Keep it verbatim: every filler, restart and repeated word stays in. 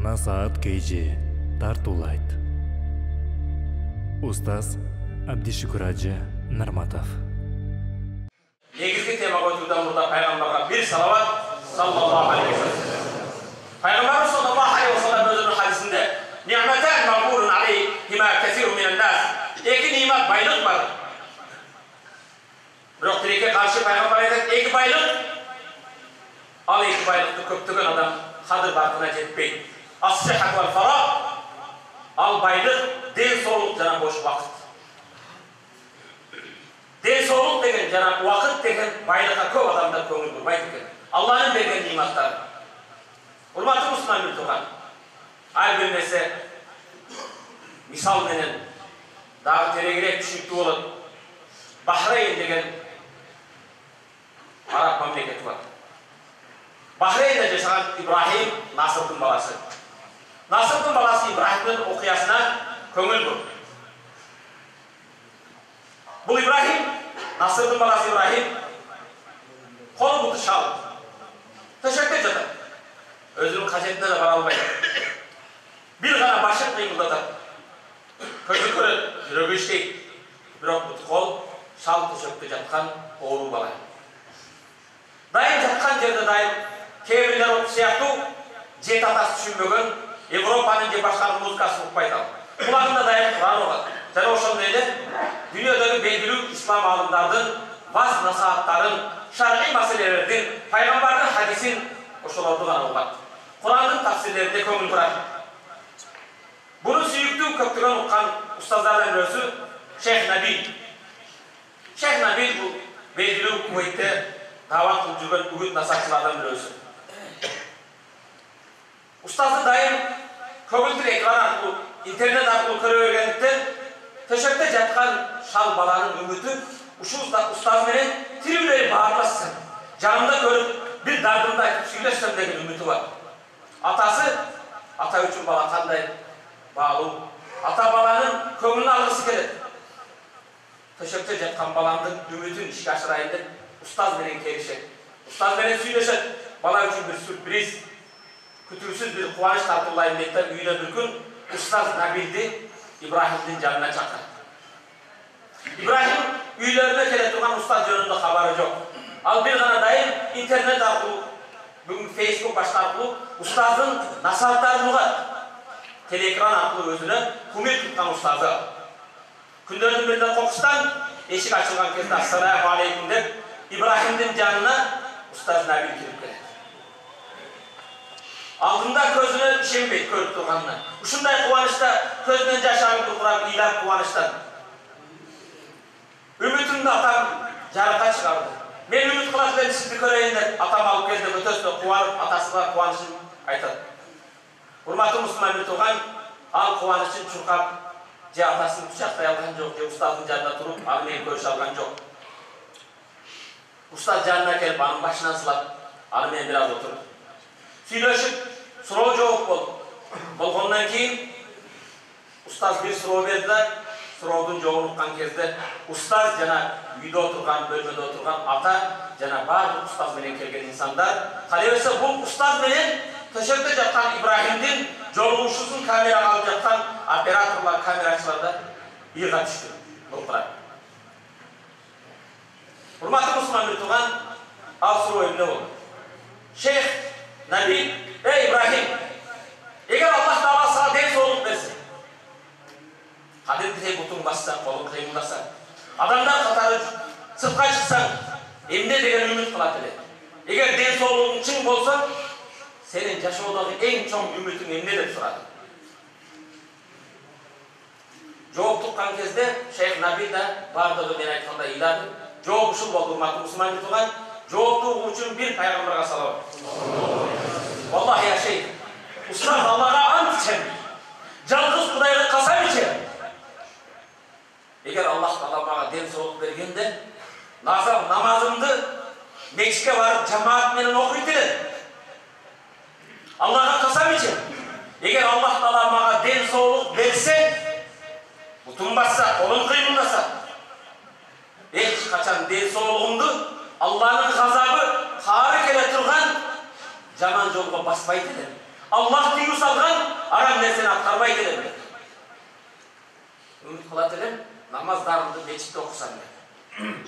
Насаат Кейжи тартуулайт. Устаз Абдишүкүр Ажы Нарматов. Негизги темага өтүүдөн мурда пайгамбарга бир салават саллаллаху алейхи ва саллям. Пайгамбар саллаллаху алейхи ва саллям өзүнүн хадисинде "Ни'матан мағбурун алейхима касирун минан нас" эки нимат байлык бар. Бирок тилекке каршы пайгамбар айтат, эки байлык ал эки байлыкты көптөгөн адам кадыр бартына жетпейт. Ас-сиххат вал фараг ал байлык, ден соолук жана бош убакыт. Ден соолук деген жана убакыт деген байлыкка көп адамдар көңүл бурбайт экен. Алланын берген ниматтары. Урматтуу мусулман муртуган, ар бир нерсе мисал менен дагы тереңирээк түшүнүктүү болот. Бахрейн деген араб мамлекети бар. Бахрейнде жашаган Ибрахим Насырдын баласы. Насырдын баласы Ибрахимдин окуясына көңүл буруп. Бул Ибрахим, Насырдын баласы Ибрахим кол буту шал. Төшөккө жатат. Өзүнүн кажетине да бара албайт. Бир гана башын кыймылдатат. Көзү көрөт, жүрөгү иштейт. Бирок бут кол шал төшөктө жаткан оору бала. Дайым жаткан жерде дайым кээ бирлер сыяктуу жет атасы түшүнбөгөн Европанын же башка музыкасын укпайт ал. Кулагында дайым Куран угат. Жана ошондой эле дүйнөдөгү белгилүү ислам аалымдардын ваз насааттарын, шар'ий маселелердин, пайгамбардын хадисин ошолорду гана угат. Курандын тафсирлерине көңүл бурат. Буну сүйүктүү көптөгөн уккан устаздардын бирөөсү Шейх Наби. Шейх Наби бул белгилүү Кувейтте дават кылып жүргөн үгүт насаатчылардан бирөөсү. Устазды дайым көгүлдүр экран аркылуу, интернет аркылуу көрө бергендиктен төшөктө жаткан шал баланын үмүтү ушул устаз менен тирүүлөй баарлашсын, жанында көрүп бир дардымды айтып сүйлөшсөм деген үмүтү бар. Атасы ата үчүн бала кандай баалуу, ата баланын көңүлүн алгысы келет. Төшөктө жаткан баламдын үмүтүн ишке ашырайын деп устаз менен келишет. Устаз менен сүйлөшөт. Бала үчүн бир сюрприз, күтүүсүз бир кубаныч тартуулайын дейт да үйүнө бир күн устаз Набилди Ибрахимдин жанына чакырат. Ибрахим үйлөрүнө келе турган устаз жөнүндө кабары жок. Ал бир гана дайым интернет аркылуу, бүгүн Facebook башка аркылуу устаздын насааттарын угат. Телеэкран аркылуу өзүнө кумир туткан устазы. Күндөрдүн биринде кокустан эшик ачылган кезде "Ассаламу алейкум" деп Ибрахимдин жанына устаз Набил кирип келет. Алдында көзүнө ишенбейт көрүп турганына. Ушундай кубанычта көзүнөн жаш агып турган ыйлап кубанычтан. Үмүтүмдү атам жарыкка чыгарды. Мен үмүт кылат элем сизди көрөйүн деп атам алып келди, өтөсүнө кубанып, атасына кубанычын айтат. Урматтуу мусулман муртуган, ал кубанычын чуркап, же атасын кучактай алган жок, же устаздын жанында туруп, аны менен көрүшө алган жок. Устаз жанына келип, анын башынан сылап, аны менен бир аз отуруп сүйлөшүп, суроо жооп болду. Болгондон кийин устаз бир суроо берди да, суроодун жообун уккан кезде устаз жана үйдө отурган, бөлмөдө отурган ата жана баардык устаз менен келген инсандар, кале берсе бул устаз менен төшөктө жаткан Ибрахимдин жолугушуусун камерага алып жаткан операторлор, камерачылар да ыйга түштү. Булкурат. Урматтуу мусулман муртуган, ал суроо эмне болду? Шейх Наби, ey Ибрахим, эгер Аллах Таала сага ден соолук берсе, кадимдей бутуң бассаң, колуң кыймылдасаң, адамдар катары сыртка чыксаң, эмне деген үмүт кылат эле? Эгер ден соолугуң чың болсо, сенин жашоодогу эң чоң үмүтүң эмне деп сурады. Жооп туккан кезде Шейх Наби да баардыгы мен айткандай ыйлады. Жооп ушул болду, урматтуу мусулман муртуган. Жоопту угуу үчүн бир пайгамбарга салам. Валлахи я шейх, устаз Аллага ант ичем, жалгыз Кудайга касам ичем. Эгер Аллах Таала мага ден соолук бергенде, назар намазымды мечитке барып жамаат менен окуйт элем. Аллага касам ичем. Эгер Аллах Таала мага ден соолук берсе, бутум басса, колум кыймылдаса, эч качан ден соолугумду Алланын газабы каары келе турган жаман жолго баспайт элем. Аллах тыюу салган арам нерсени аткарбайт элем дейт. Үмүт кылат элем, намаздарымды мечитте окусам дейт.